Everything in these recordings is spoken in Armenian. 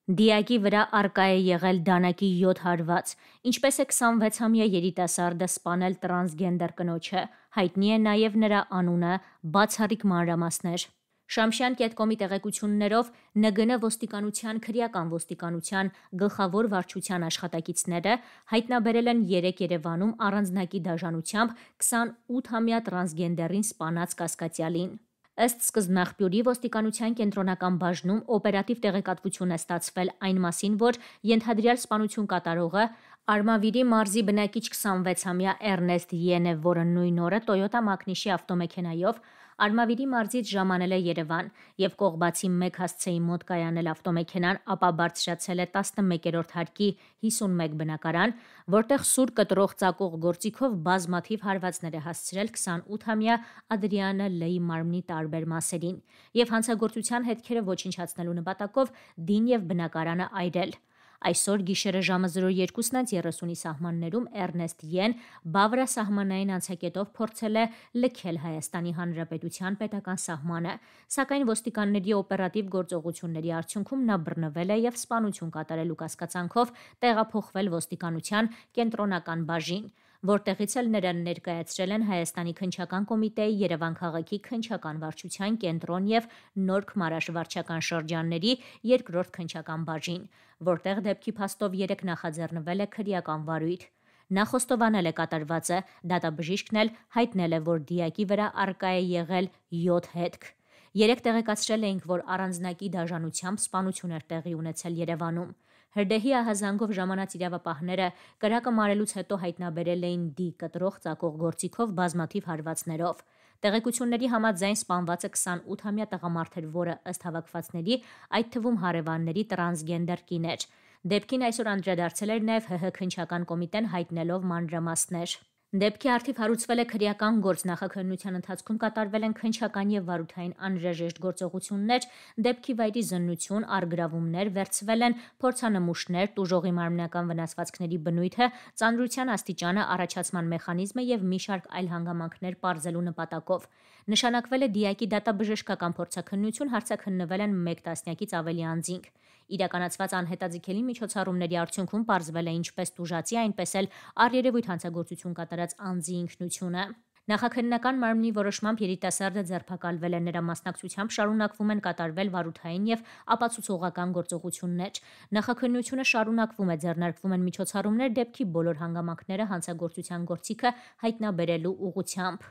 Դիակի վրա արկա է եղել դանակի 7 հարված, ինչպես է 26-ամյա երիտասարդը սպանել տրանսգենդեր կնոջը, հայտնի է նաև նրա անունը, բացառիկ մանրամասներ։ Շամշյան.com-ի տեղեկություններով ՆԳՆ ոստիկանության քրեական ոստիկանության գլխավոր վարչության աշխատակիցները հայտնաբերել են 3 Երևանում առանձնակի դաժանությամբ 28-ամյա տրանսգենդերին սպանած կասկածյալին։ Ըստ սկզբնաղբյուրի ոստիկանության կենտրոնական բաժնում օպերատիվ տեղեկատվություն է ստացվել այն մասին, որ ենթադրյալ սպանություն կատարողը Արմավիրի մարզի բնակիչ 26-ամյա Էրնեստ Յեն է, որը նույն օրը Toyota Մակնիշի ավտոմեքենայով Արմավիրի մարզից ժամանել է Երևան և Կողբացի 1 հասցեի մոտ կայանել ավտոմեքենան, ապա բարձրացել է 11-րդ հարկի 51 բնակարան, որտեղ սուր կտրող ծակող գործիքով բազմաթիվ հարվածներ է հասցրել 28-ամյա Ադրիանա Լեի մարմնի տարբեր մասերին և հանցագործության հետքերը ոչնչացնելու նպատակով դին և բնակարանը այրել։ Այսօր գիշերը ժամը 02:30-ի սահմաններում Էրնեստ Յեն բավարասահմանային անցակետով փորձել է լքել Հայաստանի Հանրապետության պետական սահմանը, սակայն ոստիկանների օպերատիվ գործողությունների արդյունքում նա բռնվել է և սպանություն կատարելու կասկածանքով տեղափոխվել ոստիկանության կենտրոնական բաժին, որտեղից էլ նրան ներկայացրել են Հայաստանի քննչական կոմիտեի Երևան քաղաքի քննչական վարչության կենտրոն և Նորք Մարաշ վարչական շրջանների 2-րդ քննչական բաժին, որտեղ դեպքի փաստով 3 նախաձեռնվել է քրեական վարույթ։ Նա խոստովանել է կատարվածը, դատաբժիշկն էլ հայտնել է, որ դիակի վրա արկա է եղել 7 հետք։ Երեկ տեղեկացրել էինք, որ առանձնակի դաժանությամբ սպանություն էր տեղի ունեցել Երևանում։ Հրդեհի ահազանգով ժամանած իրավապահները կրակը մարելուց հետո հայտնաբերել էին դի կտրող ծակող գործիքով բազմաթիվ հարվածներով։ Տեղեկությունների համաձայն սպանվածը 28-ամյա տղամարդ էր, որը ըստ հավաքվածների, այդ թվում հարևանների տրանսգենդեր կին էր։ Դեպքին այսօր անդրադարձել էր նաև ՀՀ քննչական կոմիտեն հայտնելով մանրամասներ։ Դեպքի առթիվ հարուցվել է քրեական գործ, նախաքննության ընթացքում կատարվել են քննչական և վարութային անհրաժեշտ գործողություններ, դեպքի վայրի զննություն, առգրավումներ, վերցվել են փորձանմուշներ, տուժողի մարմնական վնասվածքների բնույթը, ծանրության աստիճանը, առաջացման մեխանիզմը և մի շարք այլ հանգամանքներ պարզելու նպատակով։ Նշանակվել է դիակի դատաբժշկական փորձաքննություն, հարցաքննվել են 1 տասնյակից ավելի անձինք։ Իրականացված անհետաձգելի միջոցառումների արդյունքում պարզվել է ինչպես տուժածի, այնպես էլ առերևույթ հանցագործություն կատարած անձի ինքնությունը։ Նախաքննական մարմնի որոշմամբ երիտասարդը ձերբակալվել է, նրա մասնակցությամբ շարունակվում են կատարվել վարութային և ապացուցողական գործողություններ։ Նախաքննությունը շարունակվում է, ձեռնարկվում են միջոցառումներ դեպքի բոլոր հանգամանքները հանցագործության գործիքը հայտնաբերելու ուղղությամբ։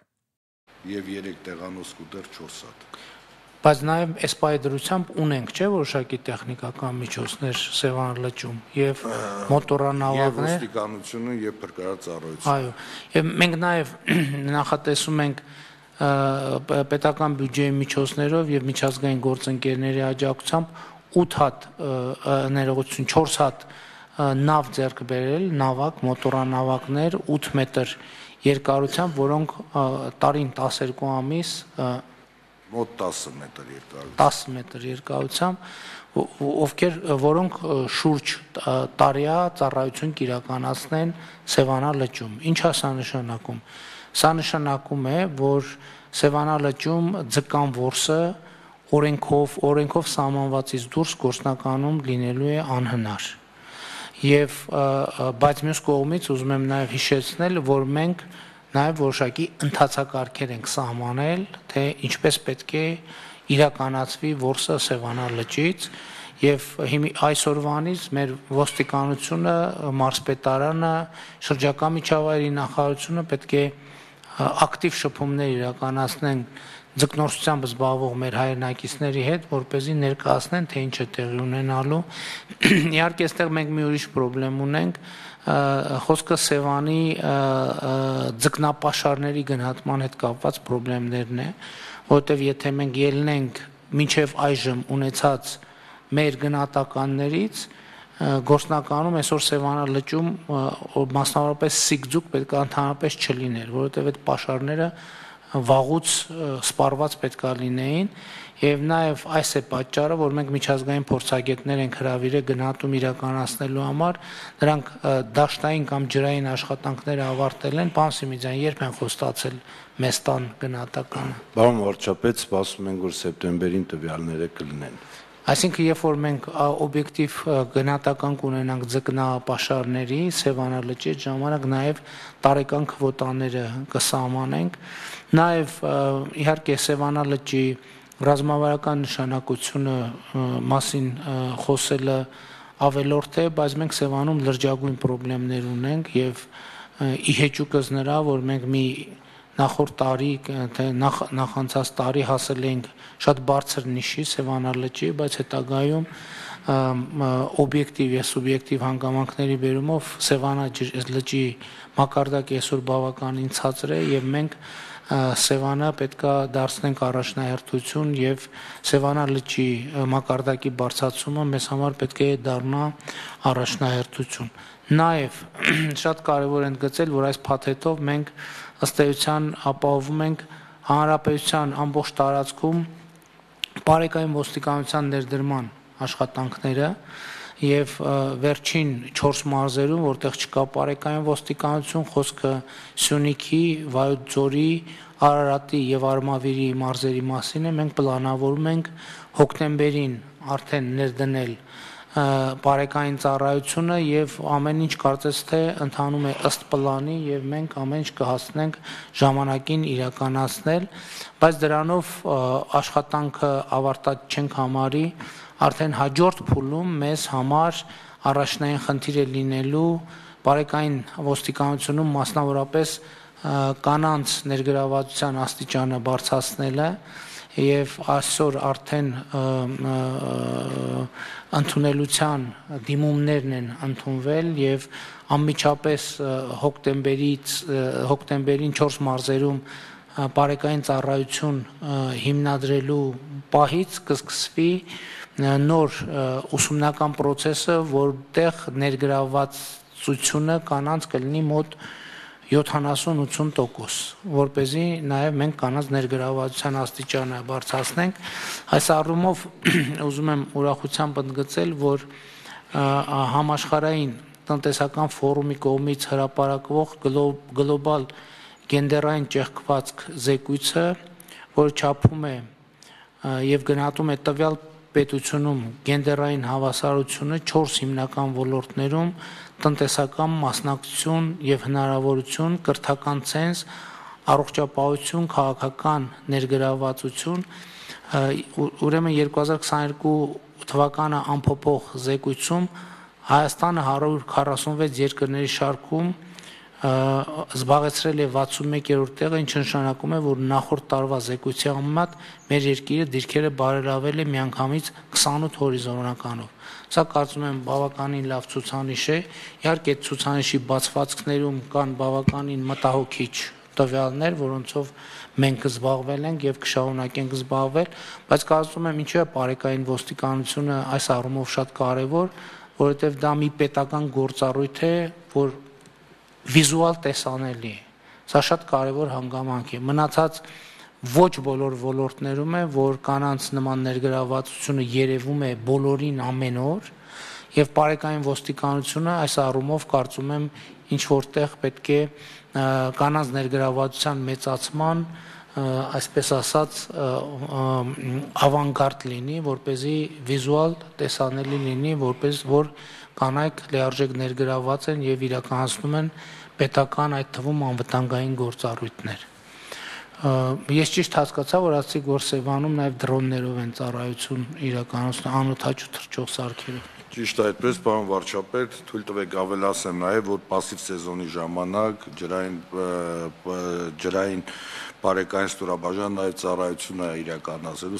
Եվ 3 տեղանոց ու դեռ 4 հատ։ Բայց նաև այս պահի դրությամբ ունենք, չէ՞, որոշակի տեխնիկական միջոցներ Սևան լճում եւ մոտորանավակներ։ Եվ ոստիկանությունը եւ փրկարարծառայությունը։ Այո, եւ մենք նաև նախատեսում ենք պետական բյուջեի միջոցներով եւ միջազգային գործընկերների աջակցությամբ 8 հատ ներողություն 4 հատ նավ ձեռք բերել, նավակ, մոտորանավակներ 8 մետր երկարությամբ, որոնք տարին 12 ամիս մոտ 10 մետր երկարությամբ 10 մետր երկարությամբ, որոնք շուրջ տարիա ծառայություն կիրականացնեն Սևանա լճում։ Ինչ է սա նշանակում։ Սա նշանակում է, որ Սևանա լճում ձկան որսը օրենքով սահմանվածից դուրս գործնականում լինելու է անհնար։ Բայց մյուս կողմից ուզում եմ նաև հիշեցնել, որ մենք նաև որոշակի ընթացակարգեր ենք սահմանել, թե ինչպես պետք է իրականացվի որսը Սևանա լճից եւ այսօրվանից մեր ոստիկանությունը, մարզպետարանը, շրջակա միջավայրի նախարարությունը պետք է ակտիվ շփումներ իրականացնեն ձկնորսությամբ զբաղվող մեր հայրենակիցների հետ, որպեսզի ներկայացնեն, թե ինչ է տեղի ունենալու։ Իհարկե, այստեղ մենք մի ուրիշ խնդրեմ ունենք, խոսքը Սևանի ձկնապաշարների գնահատման հետ կապված խնդիրներն է, որովհետև եթե մենք ելնենք մինչև այժմ ունեցած մեր գնահատականներից, գործնականում այսօր Սևանա լճում մասնավորապես սիգձուկ պետք է ընդհանրապես չլիներ, որովհետև այդ պաշարները վաղուց սպառված պետք է լինեին եւ նաեւ այս է պատճառը, որ մենք միջազգային փորձագետներ ենք հրավիրել գնահատում իրականացնելու համար, նրանք դաշտային կամ ջրային աշխատանքները ավարտել են, պարոն Սիմիձյան, երբ են խոստացել մեզ տան գնահատականը։ Պարոն վարչապետ, սպասում ենք, որ սեպտեմբերին տվյալները կլինեն։ Այսինքն, երբ որ մենք օբյեկտիվ գնահատական կունենանք ձկնապաշարների Սևանա լճի ժամանակ, նաև տարեկան քվոտաները կսահմանենք, նաև իհարկե Սևանա լճի ռազմավարական նշանակությունը մասին խոսելը ավելորդ է, բայց մենք Սևանում լրջագույն խնդիրներ ունենք եւ ի հեճուկս նրա, որ մենք մի նախորդ տարի, թե նախանցած տարի հասել ենք շատ բարձր նիշի Սևանա լճի, բայց հետագայում օբյեկտիվ եւ սուբյեկտիվ հանգամանքների բերումով Սևանա լճի մակարդակը այսօր բավականին ցածր է եւ մենք Սևանը պետքա դարձնենք առաջնահերթություն եւ Սևանա լճի մակարդակի բարձրացումը մեզ համար պետք է դառնա առաջնահերթություն։ Նաեւ շատ կարեւոր է ընդգծել, որ այս փաթեթով մենք ըստ էության ապահովում ենք հանրապետության ամբողջ տարածքում բարեկային ոստիկանության ներդրման աշխատանքները եւ վերջին 4 մարզերում, որտեղ չկա բարեկային ոստիկանություն, խոսքը Սյունիքի, Վայոց ձորի, Արարատի եւ Արմավիրի մարզերի մասին է, մենք պլանավորում ենք հոկտեմբերին արդեն ներդնել բարեկային ծառայությունը եւ ամեն ինչ կարծես թե ընթանում է ըստ պլանի եւ մենք ամեն ինչ կհասնենք ժամանակին իրականացնել, բայց դրանով աշխատանքը ավարտած չենք համարի, արդեն հաջորդ փուլում մեզ համար առաջնային խնդիր է լինելու բարեկային ոստիկանությունում մասնավորապես կանանց ներգրավվածության աստիճանը բարձրացնելը եւ այսօր արդեն ընդունելության դիմումներն են ընդունվել եւ անմիջապես հոկտեմբերին 4 մարզերում բարեկային ծառայություն հիմնադրելու պահից կսկսվի նոր ուսումնական process-ը, որտեղ ներգրավվածությունը կանանց կլինի մոտ 70-80%, որպեսզի նաև մենք կանանց ներգրավվածության աստիճանը բարձրացնենք։ Այս առումով ուզում եմ ուրախությամբ ընդգծել, որ համաշխարհային տնտեսական ֆորումի կողմից հրապարակվող գլոբալ գենդերային ճեղքվածք զեկույցը, որը չափում է եւ գնահատում է տվյալ պետությունում գենդերային հավասարությունը 4 հիմնական ոլորտներում՝ տնտեսական մասնակցություն եւ հնարավորություն, կրթական ցենզ, առողջապահություն, քաղաքական ներգրավվածություն, ուրեմն 2022 թվականը ամփոփող զեկույցում Հայաստանը 146 երկրների շարքում զբաղեցրել է 61-րդ տեղը, ինչը նշանակում է, որ նախորդ տարվա զեկույցի համեմատ մեր երկիրը դիրքերը բարելավել է միանգամից 28 հորիզոնականով։ Սա կարծում եմ բավականին լավ ցուցանիշ է։ Իհարկե այդ ցուցանիշի բացվածքներում կան բավականին մտահոգիչ տվյալներ, որոնցով մենք զբաղվել ենք եւ կշարունակենք զբաղվել, բայց կարծում եմ ինչու է բարեկային ոստիկանությունը այս առումով շատ կարեւոր, որովհետեւ դա մի պետական գործառույթ է, որ վիզուալ տեսանելի է։ Սա շատ կարևոր հանգամանք է։ Մնացած ոչ բոլոր ոլորտներում է, որ կանանց նման ներգրավվածությունը երևում է բոլորին ամեն օր, եւ բարեկային ոստիկանությունը այս առումով կարծում եմ ինչ որտեղ պետք է կանանց ներգրավվածության մեծացման, այսպես ասած, ավանգարդ լինի, որպեսզի վիզուալ տեսանելի լինի, որպես որ կանայք լիարժեք ներգրավված են եւ իրականացնում են պետական այդ թվում անվտանգային գործառույթներ։ Ես ճիշտ հասկացա, որ ասացիք, որ Սևանում նաեւ դրոններով են ծառայություն իրականացնում անօթաչու թռչող սարքերով։ Ճիշտ այդպես, պարոն վարչապետ, թույլ տվեք ավելացեմ նաեւ, որ պասիվ սեզոնի ժամանակ ջրային բարեկային ստորաբաժան նաեւ ծառայություն է իրականացրել